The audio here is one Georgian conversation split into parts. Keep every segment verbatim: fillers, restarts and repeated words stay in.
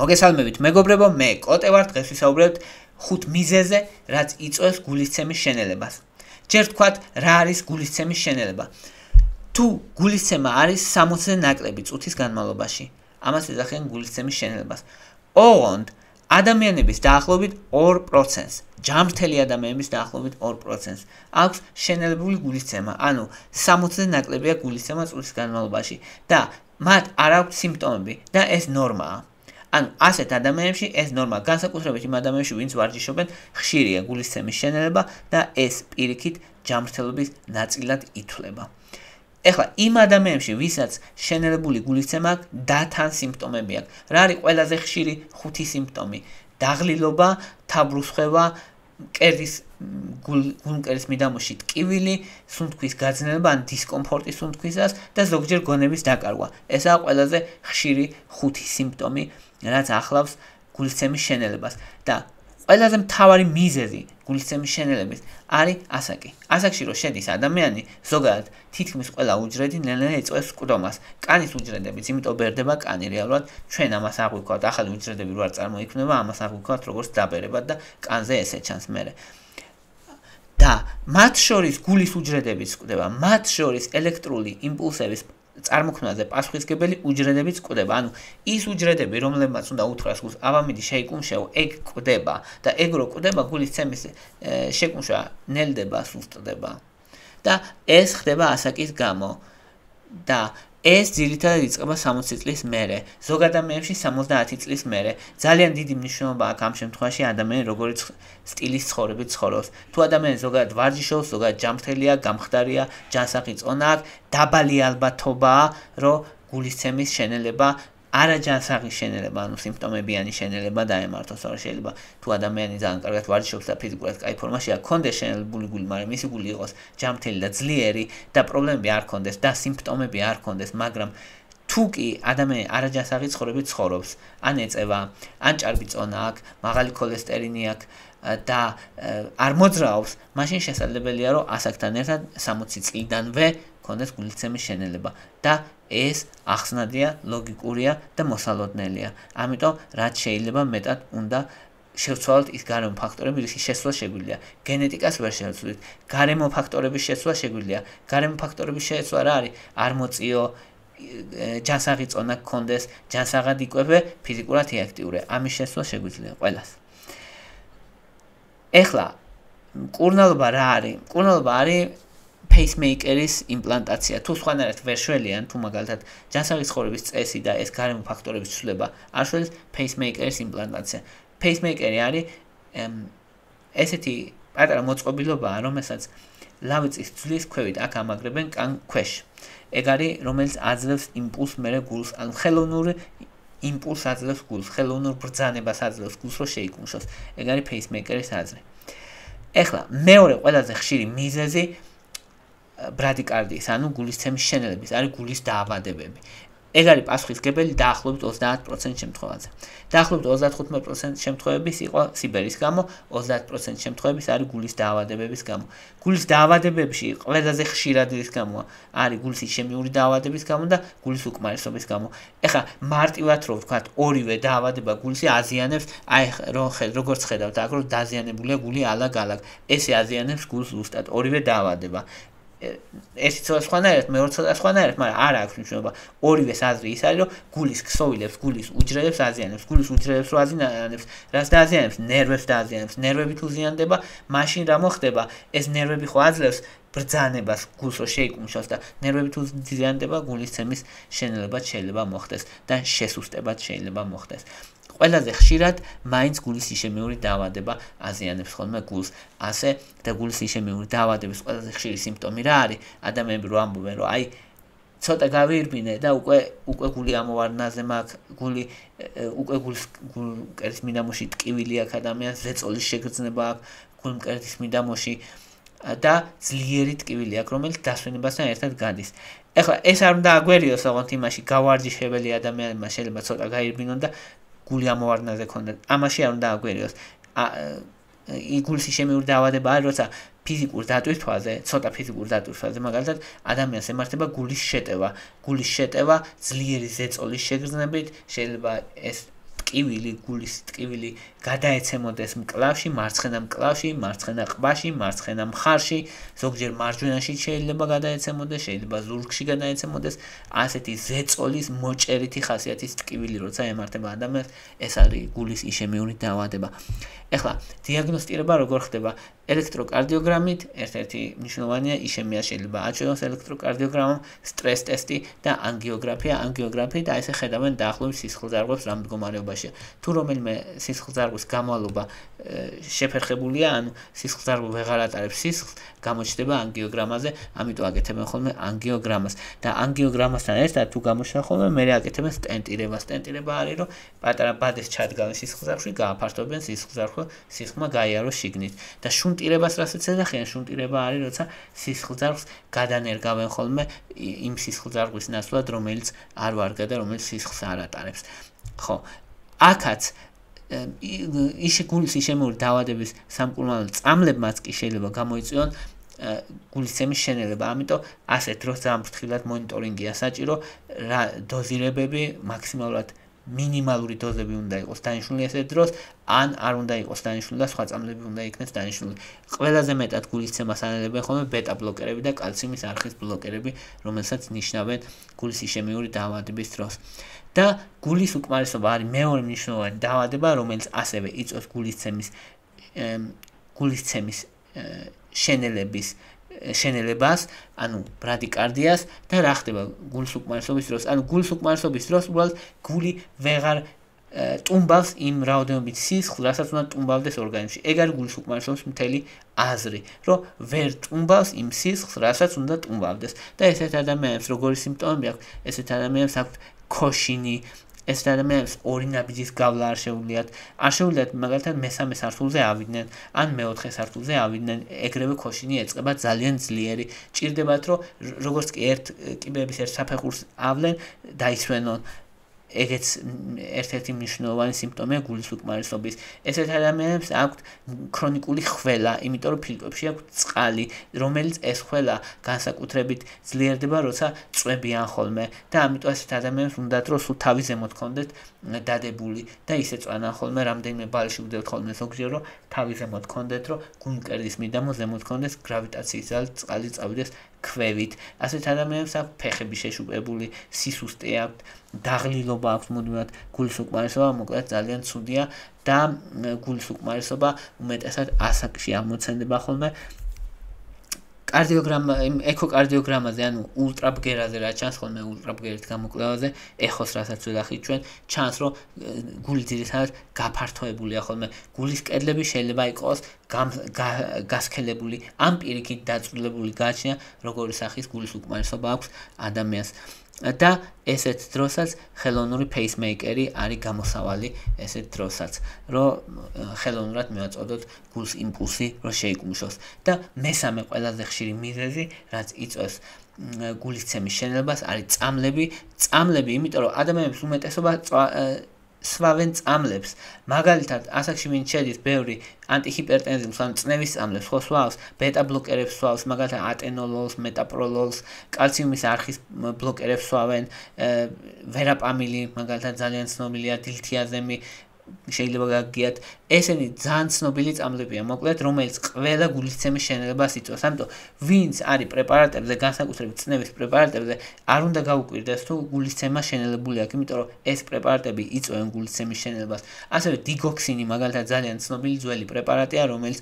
მოგესალმებით მეგობრებო, მე კოტე ვარ, დღეს ვისაუბრებთ ხუთ მიზეზზე, რაც იწვევს გულისცემის შენელებას. ჯერ ვთქვათ, რა არის გულისცემის შენელება. თუ გულისცემა არის სამოცზე ნაკლები წუთის განმავლობაში, ამას ეძახიან გულისცემის შენელებას. ოღონდ ადამიანების დაახლოებით ორ პროცენტს, ჯანმრთელი ადამიანების დაახლოებით ორ პროცენტს აქვს შენელებული გულისცემა, ანუ სამოცზე ნაკლებია გულისცემა წუთის განმავლობაში და მათ არ აქვს სიმპტომები და ეს ნორმაა. ანუ ასეთ ადამიანებში ეს ნორმა, განსაკუთრებით იმ ადამიანებში, ვინც ვარჯიშობენ, ხშირია გულისცემის შენელება და ეს პირიქით ჯანმრთელობის ნაწილად ითვლება. ეხლა იმ ადამიანებში, ვისაც შენელებული გულისცემა აქვს, დათან სიმპტომები აქვს. რა არის ყველაზე ხშირი ხუთი სიმპტომი? დაღლილობა, თაბრუსხვევა, მკერდის გულმკერდის მიდამოში ტკივილი, სუნთქვის გაძნელება ან დისკომფორტი სუნთქვისას და ზოგჯერ გონების დაკარგვა. ესაა ყველაზე ხშირი ხუთი სიმპტომი, რაც ახლავს გულისცემის შენელებას და ყველაზე მთავარი მიზეზი გულისცემის შენელების არის ასაკი. ასაკში რო შედის ადამიანი, ზოგადად თითქმის ყველა უჯრედი ნელ-ნელა ეწევს მკვდომას. კანის უჯრედებიც, იმიტომ ბერდება კანი რეალურად, ჩვენ ამას არ გვიქავთ, ახალი უჯრედები რო არ წარმოიქმნება, ამას არ გვიქავთ როგორც დაბერებად და კანზე ესე ჩანს მერე. და მათ შორის გულის უჯრედებიც გვხვდება, მათ შორის ელექტრული იმპულსების წარმოქმნაზე პასუხისმგებელი უჯრედებიც გვხვდება. ანუ ის უჯრედები, რომლებმაც უნდა უთხრას გულს ავამიდი შეიკუმშეო, ეგ გვხვდება და ეგ რო გვხვდება, გულისცემის შეკუმშვა ნელდება, სუსტდება. და ეს ხდება ასაკის გამო და ეს ძირითადად იწყება სამოცი წლის მერე, ზოგ ადამიანებში სამოცდაათი წლის მერე. ძალიან დიდი მნიშვნელობა აქვს ამ შემთხვევაში ადამიანი როგორი სტილის ცხოვრებით ცხოვრობს. თუ ადამიანი ზოგადად ვარჯიშობს, ზოგადად ჯანმრთელია, გამხდარია, ჯანსაღი წონა აქვს, დაბალი ალბათობაა, რომ გულისცემის შენელება არაჯანსაღი შენელება, ანუ სიმპტომებიანი შენელება დაემართოს. არა შეიძლება თუ ადამიანი ძალიან კარგად ვარჯიშობს და ფიზიკურად კაი ფორმაშია, ქონდეს შენელებული გული, მაგრამ მისი გული იყოს ჯანმრთელი და ძლიერი და პრობლემები არ ქონდეს და სიმპტომები არ ქონდეს, მაგრამ თუ კი ადამიანი არაჯანსაღი ცხოვრებით ცხოვრობს, ან ეწევა, ან ჭარბი წონა აქვს, მაღალი ქოლესტერინი აქვს და არ მოძრაობს, მაშინ შესაძლებელია, რომ ასაკთან ერთად სამოცი წლიდანვე ქონდეს გულისცემის შენელება და ეს ახსნადია, ლოგიკურია და მოსალოდნელია. ამიტომ რაც შეიძლება მეტად უნდა შევცვალოთ ის გარემო ფაქტორები, რისის შესვლა შეგვიძლია. გენეტიკას ვერ შევცვლით, გარემო ფაქტორების შესვლა შეგვიძლია. გარემო ფაქტორების შესვლა რა არის? არ მოწიო, ჯანსაღი წონა გქონდეს, ჯანსაღად იკვებე, ფიზიკურად იაქტიურე. ამის შესვლა შეგვიძლია ყველას. ეხლა მკურნალობა რა არის? მკურნალობა არის pacemaker-ის იმპლანტაცია. თუ სხვანაირად ვერ შველიან, თუ მაგალითად ჯანსაღი ცხოვრების წესი და ეს გარემო ფაქტორების ცვლილება არ შველის, pacemaker-ის იმპლანტაცია. pacemaker-ი არის ესეთი პატარა მოწყობილობაა, რომელსაც ლავიწის ძვლის ქვევით აქ ამაგრებენ კან ქვეშ. ეგ არის, რომელიც აძლევს იმპულსს მერე გულს, ანუ ხელოვნური იმპულსს აძლევს გულს, ხელოვნურ ბრძანებას აძლევს გულს, რომ შეიკუმშოს. ეგ არის pacemaker-ის აზრი. ეხლა მეორე ყველაზე ხშირი მიზეზი ბრადიკარდიის, ანუ გულისცემის შენელების, არის გულის დაავადებები. ეგ არის პასუხისმგებელი დაახლოებით ოცდაათ პროცენტ შემთხვევაზე. დაახლოებით ოცდათხუთმეტ პროცენტ შემთხვევების იყო სიბერის გამო, ოცდაათ პროცენტ შემთხვევების არის გულის დაავადებების გამო. გულის დაავადებებში ყველაზე ხშირად რის გამო არის გულის ისემიური დაავადების გამო და გულის უკმარისობის გამო. ეხლა მარტივად რო ვთქვათ, ორივე დაავადება გულს აზიანებს, აი როგორც ხედავთ, აქ რომ დაზიანებულია გული ალაგ-ალაგ. ესე აზიანებს გულს ზუსტად ორივე დაავადება. ერთი ცოტა სხვანაირად, მეორე ცოტა სხვანაირად, მაგრამ არ აქვს მნიშვნელობა. ორივეს აზრი ის არის, რომ გულის ქსოვილებს, გულის უჯრედებს აზიანებს, გულის უჯრედებს რო აზიანებს, რას დააზიანებს? ნერვებს დააზიანებს. ნერვები თუ ზიანდება, მაშინ რა მოხდება? ეს ნერვები ხო აძლევს ბრძანებას გულს რო შეიკუმშოს და ნერვები თუ ზიანდება, გულისცემის შენელებაც შეიძლება მოხდეს და შესუსტებაც შეიძლება მოხდეს. ყველაზე ხშირად მაინც გულის ისემიური დაავადება აზიანებს ხოლმე გულს. ასე და გულის ისემიური დაავადების ყველაზე ხშირი სიმპტომი რა არის? ადამიანები რო ამბობენ, რომ აი ცოტა გავირბინე და უკვე უკვე გული ამოვარდნაზე მაქვს, გული უკვე გულის გულმკერდის მიდამოში ტკივილი აქვს ადამიანს, ზეწოლის შეგრძნება აქვს გულმკერდის მიდამოში და ძლიერი ტკივილი აქვს, რომელიც დასვენებასთან ერთად გადის. ეხლა ეს არ უნდა აგვერიოს, ოღონდ იმაში გავარჯიშებელი ადამიანებმა შეიძლება ცოტა გაირბინონ და გული ამოვარდნაზე ქონდა. ამაში არ უნდა აგვერიოს. გულის ისემიური დაავადება არის, როცა ფიზიკურ დატვირთვაზე, ცოტა ფიზიკურ დატვირთვაზე, მაგალითად, ადამიანს ემართება გულის შეტევა. გულის შეტევა ძლიერი ზეწოლის შეგრძნებით, შეიძლება ეს ტკივილი, გულის ტკივილი გადაეცემოდეს მკლავში, მარცხენა მკლავში, მარცხენა ყბაში, მარცხენა მხარში, ზოგჯერ მარჯვენაში შეიძლება გადაეცემოდეს, შეიძლება ზურგში გადაეცემოდეს, ასეთი ზეწოლის მოჭერითი ხასიათის ტკივილი, როცა ემართება ადამიანს, ეს არის გულის იშემიური დაავადება. ეხლა დიაგნოსტირება როგორ ხდება? ელექტროკარდიოგრამით, ერთ-ერთი მნიშვნელოვანია იშემია შეიძლება აჩვენოს ელექტროკარდიოგრამამ, სტრეს ტესტი და ანგიოგრაფია. ანგიოგრაფიით აი ესე ხედავენ დაახლოებით სისხლძარღვებს რა მდგომარეობაშია. თუ რომელიმე სისხლძარღვის გამალობა შეფერხებულია, ანუ სისხლძარღვი ვეღარ ატარებს სისხლს, გამოჩნდება ანგიოგრამაზე, ამიტომ აკეთებენ ხოლმე ანგიოგრამას. და ანგიოგრამასთან ერთად თუ გამოჩნდა ხოლმე, მე აკეთებენ სტენტირება. სტენტირება არის, რომ პატარა ბადეს ჩადგავენ სისხლძარღვში, გააფართოვებენ სისხლძარღვი, სისხლმა გაიაროს შიგნით. და შუნტირებას რასაც ეძახიან, შუნტირება არის, როცა სისხლძარღვს გადანერგავენ ხოლმე იმ სისხლძარღვის ნაცვლად, რომელიც არ ვარგა და რომელიც სისხლს არ ატარებს. ხო, აქაც ისე გულის იშემიური დაავადების სამკურნალო წამლებმაც კი შეიძლება გამოიწვიონ გულისცემის შენელება. ამიტომ ასეთ დროს ძალიან ფრთხილად მონიტორინგია საჭირო, რა დოზირებები მაქსიმალურად მინიმალური დოზები უნდა იყოს დანიშნული ასეთ დროს, ან არ უნდა იყოს დანიშნული და სხვა წამლები უნდა იქნეს დანიშნული. ყველაზე მეტად გულისცემას ანელებენ ხოლმე ბეტა ბლოკერები და კალციუმის არხის ბლოკერები, რომელსაც ნიშნავენ გულის იშემიური დაავადების დროს. და გულის უკმარისობა არის მეორე მნიშვნელოვანი დაავადება, რომელიც ასევე იწვევს გულისცემის გულისცემის შენელების შენელებას, ანუ ბრადიკარდიას და რა ხდება გულის უკმარისობის დროს? ანუ გულის უკმარისობის დროს უბრალოდ გული ვეღარ ტუმბავს იმ რაოდენობით სისხლს, რასაც უნდა ტუმბავდეს ორგანიზმში. ეგ არის გულის უკმარისობის მთელი აზრი, რომ ვერ ტუმბავს იმ სისხლს, რასაც უნდა ტუმბავდეს. და ესეთ ადამიანებს როგორი სიმპტომები აქვს? ესეთ ადამიანებს აქვთ ქოშინი, ესეთ ადამიანებს ორი ნაბიჯის გავლა არ შეუძლიათ, არ შეუძლიათ მაგალითად მესამე სართულზე ავიდნენ, ან მეოთხე სართულზე ავიდნენ, ეგრევე ქოშინი ეწყება ძალიან ძლიერი. ჭირდებათ, რომ როგორც კი ერთ კიბეების ერთ საფეხურს ავლენ, დაისვენონ. ეგეც ერთ-ერთი მნიშვნელოვანი სიმპტომია გულის უკმარისობის. ესეთ ადამიანებს აქვთ ქრონიკული ხველა, იმიტომ რომ ფილტვებში აქვთ წყალი, რომელიც ეს ხველა განსაკუთრებით ძლიერდება, როცა წვებიან ხოლმე და ამიტომ ესეთ ადამიანებს უნდათ რომ სულ თავი ზემოთ ქონდეთ დადებული და ისე წვანან ხოლმე, რამდენიმე ბალში ვდებთ ხოლმე ზოგჯერ რომ თავი ზემოთ ქონდეთ, რომ გულმკერდის მიდამო ზემოთ ქონდეს, გრავიტაციის ძალით წყალი წავიდეს ქვევით. ასეთ ადამიანებს აქვთ ფეხები შეშუპებული, სისუსტე აქვთ, დაღლილობა აქვს მუდმივად, გულის უკმარისობა მოკლედ ძალიან ცუდია და გულის უკმარისობა უმეტესად ასაკში აღმოცენდება ხოლმე. კარდიოგრამა, ეკოკარდიოგრამაზე, ანუ ულტრაბგერაზე რა ჩანს ხოლმე ულტრაბგერით გამოკვლევაზე, ეხოს რასაც ვეძახით ჩვენ, ჩანს რომ გული ძირითადად გაფართოებულია ხოლმე. გულის კედლები შეიძლება იყოს გასქელებული, ამ პირიქით დაწვრილებული გააჩნია, როგორი სახის გულის უკმარისობა აქვს ადამიანს. და ესეთ დროსაც ხელოვნური პეისმეიკერი არის გამოსავალი ესეთ დროსაც, რომ ხელოვნურად მივაწოდოთ გულს იმპულსი, რომ შეიკუმშოს. და მესამე ყველაზე ხშირი მიზეზი, რაც იწვევს გულისცემის შენელებას, არის წამლები. წამლები, იმიტომ რომ ადამიანებს უმეტესობა სვავენ წამლებს. მაგალითად, ასაკში ვინ შედის ბევრი ანტიჰიპერტენზივის, ანუ წნევის წამლებს, ხო სვავს, ბეტა ბლოკერებს სვავს, მაგალითად ატენოლოლს, მეტაპროლოლს, კალციუმის არხის ბლოკერებს სვავენ, ვერაპამილი, მაგალითად ძალიან ცნობილია, დილთიაზემი, შეიძლება გაგიათ. ესენი ძალიან ცნობილი წამლებია, მოკლედ, რომელიც ყველა გულისცემის შენელებას იწვევს. ამიტომ ვინც არის პრეპარატებზე, განსაკუთრებით წნევის პრეპარატებზე, არ უნდა გაუკვირდეს თუ გულისცემა შენელებული აქვს, იმიტომ რომ ეს პრეპარატები იწვევენ გულისცემის შენელებას. ასევე დიგოქსინი, მაგალითად, ძალიან ცნობილი ძველი პრეპარატია, რომელიც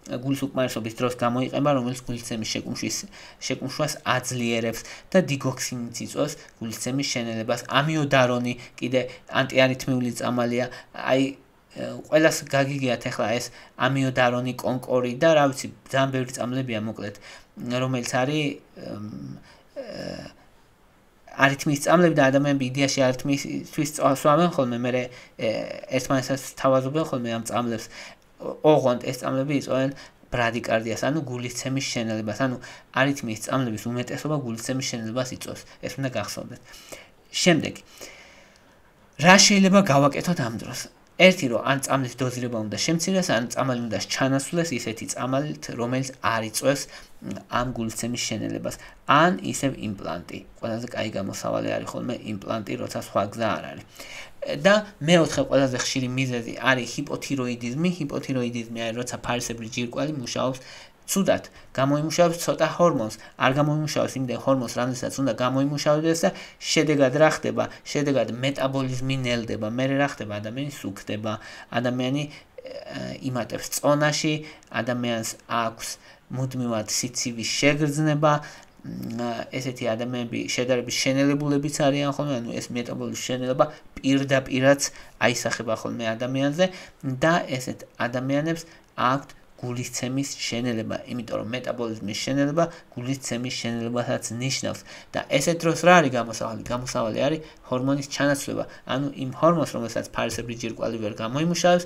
გულის უკმარისობის დროს გამოიყენება, რომელიც გულისცემის შეკუმშვის შეკუმშვას აძლიერებს და დიგოქსინიც იწვევს გულისცემის შენელებას. ამიოდარონი კიდე ანტიარითმიული წამალია, აი ყველას გაგიგიათ ახლა ეს ამიოდარონი, კონკორი და რა ვიცი, ძალიან ბევრი წამლებია მოკლედ, რომელიც არის არითმიის წამლები და ადამიანები იდეაში არითმისთვის სვამენ ხოლმე, მე ერთმანეთს თავაზობენ ხოლმე ამ წამლებს. ოღონდ ეს წამლები იწვევენ ბრადიკარდიას, ანუ გულისცემის შენელებას, ანუ არითმიის წამლების უმეტესობა გულისცემის შენელებას იწვევს. ეს უნდა გახსოვდეთ. შემდეგი, რა შეიძლება გავაკეთოთ ამ დროს? ერთი რომ ან წამლის დოზირება უნდა შემცირდეს, ან წამალი უნდა ჩანასვლეს ისეთი წამალით, რომელიც არ იწვევს ამ გულისცემის შენელებას, ან ისევ იმპლანტი. ყველაზე კაი გამოსავალი არის ხოლმე იმპლანტი, როცა სხვა გზა არ არის. და მეოთხე ყველაზე ხშირი მიზეზი არის ჰიპოთიროიდიზმი. ჰიპოთიროიდიზმი არის როცა ფარისებრი ჯირკვალი მუშაობს ცუდად, გამოიმუშავებს ცოტა ჰორმონს, არ გამოიმუშავებს იმდენ ჰორმონს, რამდენსაც უნდა გამოიმუშავდეს და შედეგად რა ხდება? შედეგად მეტაბოლიზმი ნელდება, მერე რა ხდება? ადამიანი სუქდება, ადამიანი იმატებს წონაში, ადამიანს აქვს მუდმივად სიცივის შეგრძნება, ესეთი ადამიანები შედარებით შენელებულებიც არიან ხოლმე, ანუ ეს მეტაბოლიზმის შენელება პირდაპირაც აისახება ხოლმე ადამიანზე და ესეთ ადამიანებს აქვთ გულისცემის შენელება, იმიტომ რომ მეტაბოლიზმის შენელება გულისცემის შენელებასაც ნიშნავს და ესეთ დროს რა არის გამოსავალი? გამოსავალი არის ჰორმონის ჩანაცვლება, ანუ იმ ჰორმონს, რომელსაც ფარისებრი ჯირკვალი ვერ გამოიმუშავებს,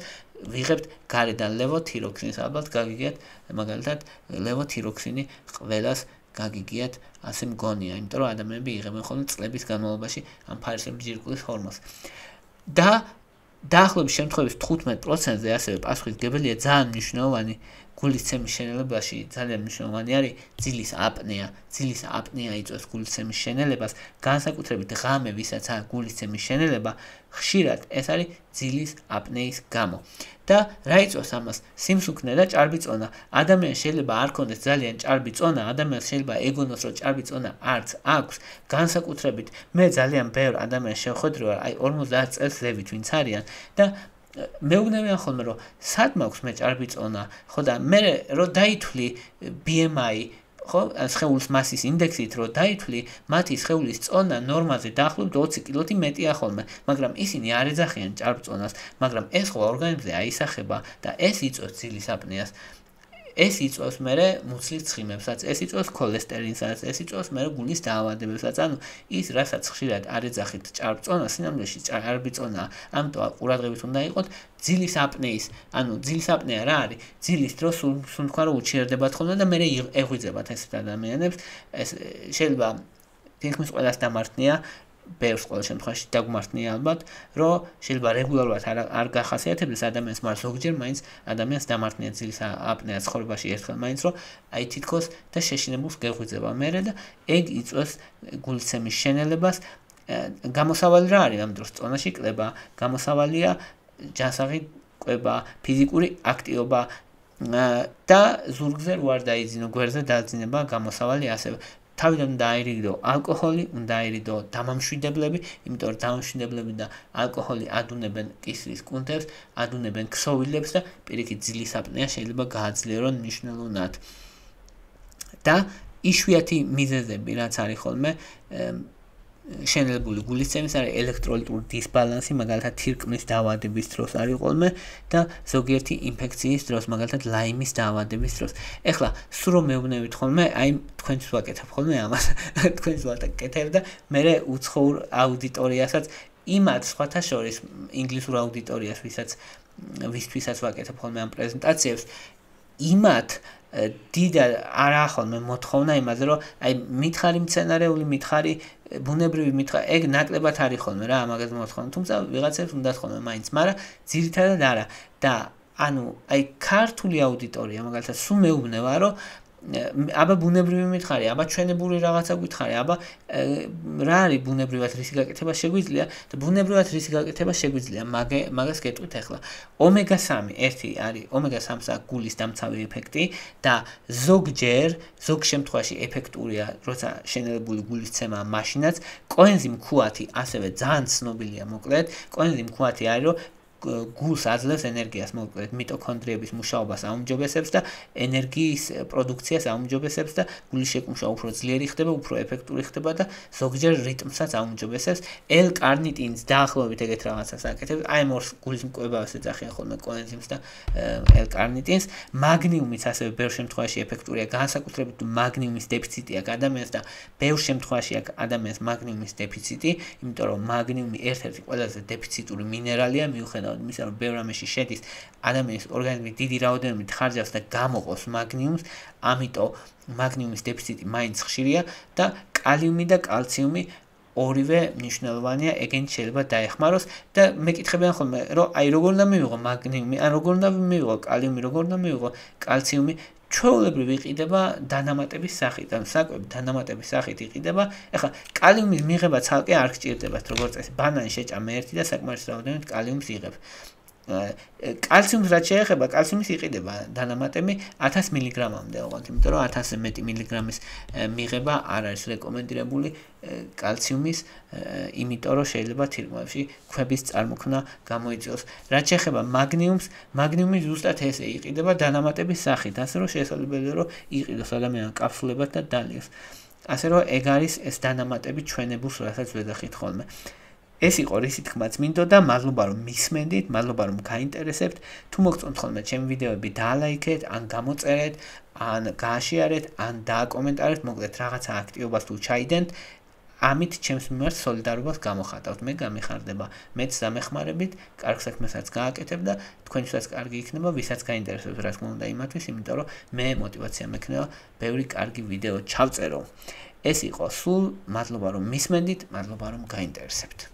ვიღებთ გარედან ლევოთიროქსინს, ალბათ გაგიგიათ, მაგალითად ლევოთიროქსინი ყველას გაგიგიათ, ასე მგონია, იმიტომ რომ ადამიანები იღებენ ხოლმე წლების განმავლობაში ამ ფარისებრი ჯირკვლის ჰორმონს. და დაახლოების შემთხვევების თხუთმეტ პროცენტზე ასევე პასუხისმგებელია ძალიან მნიშვნელოვანი გულისცემის შენელებაში, ძალიან მნიშვნელოვანი არის ძილის აპნეა. ძილის აპნეა იწვევს გულისცემის შენელებას, განსაკუთრებით ღამე, ვისაც აქვს გულისცემის შენელება, ხშირად ეს არის ძილის აპნეის გამო. და რა იწვევს ამას? სიმსუქნე და ჭარბი წონა. ადამიანს შეიძლება არ ქონდეს ძალიან ჭარბი წონა, ადამიანს შეიძლება ეგონოს, რომ ჭარბი წონა არც აქვს, განსაკუთრებით მე ძალიან ბევრ ადამიანს შევხვედრი ვარ, აი ორმოცდაათ წელს ზევით ვინც არიან და მეუბნებიან ხოლმე, რომ სად მაქვს მე ჭარბი წონა, ხო და მე რომ დაითვლი ბი ემ აი, ხო, სხეულის მასის ინდექსით რომ დაითვლი, მათი სხეულის წონა ნორმაზე დაახლოებით ოცი კილოთი მეტია ხოლმე, მაგრამ ისინი არ ეძახიან ჭარბ წონას, მაგრამ ეს ხო ორგანიზმზე აისახება და ეს იწვევს ძილის აპნეას. ეს იწვევს მერე მუცლის ცხიმებსაც, ეს იწვევს ქოლესტერინსაც, ეს იწვევს მერე გულის დაავადებებსაც, ანუ ის, რასაც ხშირად არ ეძახით ჭარბ წონას, სინამდვილეში ჭარბი წონაა, ამიტომ ყურადღებით უნდა იყოთ ძილის აპნეის, ანუ ძილის აპნეა რა არის? ძილის დროს სულ თქვა რომ უჩერდებათ ხოლმე და მერე ეღვიძებათ ესეთ ადამიანებს, ეს შეიძლება თითქმის ყველას დამართნია, ბევრს ყოველ შემთხვევაში დაგმართნია ალბათ, რომ შეიძლება რეგულარულად არ, არ გახასიათებდეს ადამიანს, მაგრამ ზოგჯერ მაინც ადამიანს დამართნია ძილის აპნეა ცხოვრებაში ერთხელ მაინც, რომ აი თითქოს და შეშინებულს გეღვიძება მერე და ეგ იწვევს გულისცემის შენელებას. გამოსავალი რა არის ამ დროს? წონაში კლება, გამოსავალია ჯანსაღი კვება, ფიზიკური აქტივობა და ზურგზე რო არ დაიძინო, გვერდზე დაძინება გამოსავალი ასევე. თავიდან უნდა აირიდო ალკოჰოლი, უნდა აირიდო დამამშვიდებლები, იმიტომ რომ დამამშვიდებლები და ალკოჰოლი ადუნებენ კისრის კუნთებს, ადუნებენ ქსოვილებს და პირიქით ძილის აპნეა შეიძლება გააძლიერონ მნიშვნელოვნად. და იშვიათი მიზეზები, რაც არის ხოლმე შენელებული გულისცემის, არის ელექტროლიტური დისბალანსი, მაგალითად თირკმლის დაავადების დროს არის ხოლმე და ზოგიერთი ინფექციის დროს, მაგალითად ლაიმის დაავადების დროს. ეხლა სულ რომ მეუბნებით ხოლმე, აი თქვენთვის ვაკეთებ ხოლმე ამას, თქვენს ვაკეთებ და მე უცხოურ აუდიტორიასაც იმათ სხვათა შორის ინგლისურ აუდიტორიას, ვისაც ვისთვისაც ვაკეთებ ხოლმე ამ პრეზენტაციებს, იმათ დიდად არა ხოლმე მოთხოვნა იმაზე, რომ აი მითხარი მცენარეული, მითხარი ბუნებრივი, მითხარი, ეგ ნაკლებად არის ხოლმე რა, ამაგას მოთხოვნა, თუმცა ვიღაცებს უნდათ ხოლმე მაინც, მაგრამ ძირითადად არა. და ანუ აი ქართული აუდიტორია, მაგალითად, სულ მეუბნება, რომ აბა ბუნებრივი მითხარი, აბა ჩვენებური რაღაცა გითხარი, აბა რა არის ბუნებრივად რისი გაკეთება შეგვიძლია და ბუნებრივად რისი გაკეთება შეგვიძლია, მაგას გეტყვით ახლა. ომეგა სამი, ერთი არის ომეგა სამს აქვს გულის დამცავი ეფექტი და ზოგჯერ, ზოგ შემთხვევაში ეფექტურია, როცა შენელებული გულისცემაა მაშინაც, კოენზიმ ქუათი ასევე ძალიან ცნობილია მოკლედ, კოენზიმ ქუათი არის, რომ გულს აძლევს ენერგიას, მოკლედ მიტოქონდრიების მუშაობას აუმჯობესებს და ენერგიის პროდუქციას აუმჯობესებს და გულის შეკუმშვა უფრო ძლიერი ხდება, უფრო ეფექტური ხდება და ზოგჯერ რიტმსაც აუმჯობესებს. ელ-კარნიტინს დაახლოებით ეგეთ რაღაცას აკეთებს, აი მორს გულის მკვლევას ეძახიან ხოლმე კოენზიმს და ელ-კარნიტინს. მაგნიუმიც ასევე ბევრ შემთხვევაში ეფექტურია, განსაკუთრებით მაგნიუმის დეფიციტი აქვს ადამიანს და ბევრ შემთხვევაში აქვს ადამიანს მაგნიუმის დეფიციტი, იმიტომ რომ მაგნიუმი ერთ-ერთი ყველაზე დეფიციტური მინერალია, მიუხედავად იმისა, რომ ბევრ რამეში შედის, ადამიანის ორგანიზმი დიდი რაოდენობით ხარჯავს და გამოყოს მაგნიუმს, ამიტომ მაგნიუმის დეფიციტი მაინც ხშირია და კალიუმი და კალციუმი ორივე მნიშვნელოვანია, ეგენი შეიძლება დაეხმაროს და მეკითხებიან ხოლმე, რომ აი როგორ უნდა მივიღო მაგნიუმი, ან როგორ უნდა მივიღო კალიუმი, როგორ უნდა მივიღო კალციუმი, ჩვეულებრივ იყიდება დანამატების სახით, ანუ საკვები დანამატების სახით იყიდება. ეხლა კალიუმის მიღება ცალკე არ გჭირდებათ, როგორც წესი, ბანანი შეჭამე ერთი და საკმარისი რაოდენობით კალიუმს იღებ. კალციუმს რაც შეეხება, კალციუმის იყიდება დანამატები ათას მილიგრამამდე, ოღონდ, იმიტომ რომ ათასზე მეტი მილიგრამის მიღება არ არის რეკომენდირებული კალციუმის, იმიტომ რომ შეიძლება თირკმლებში ქვების წარმოქმნა გამოიწვიოს. რაც შეეხება მაგნიუმს, მაგნიუმი ზუსტად ესე იყიდება დანამატების სახით, ასე რომ შესაძლებელია რომ იყიდოს ადამიანმა კაფსულებად და დალიოს. ასე რომ ეგ არის ეს დანამატები ჩვენებულს, რასაც ვეძახით ხოლმე. ეს იყო რისი თქმაც მინდოდა, მადლობა რომ მისმენდით, მადლობა რომ გაინტერესებთ. თუ მოგწონთ ხოლმე ჩემი ვიდეოები, დაალაიქეთ, ან გამოწერეთ, ან გააშიარეთ, ან დააკომენტარეთ, მოკლედ რაღაცა აქტივობას თუ ჩაიდენთ, ამით ჩემს მიმართ სოლიდარობას გამოხატავთ. მე გამიხარდება, მეც დამეხმარებით, კარგ საქმესაც გააკეთებ და თქვენთვისაც კარგი იქნება, ვისაც გაინტერესებს, რა თქმა უნდა იმათვის, იმიტომ რომ მე мотиваცია მექნება ბევრი კარგი ვიდეო ჩავწერო. ეს იყო სულ, მადლობა რომ მისმენდით, მადლობა რომ გაინტერესებთ.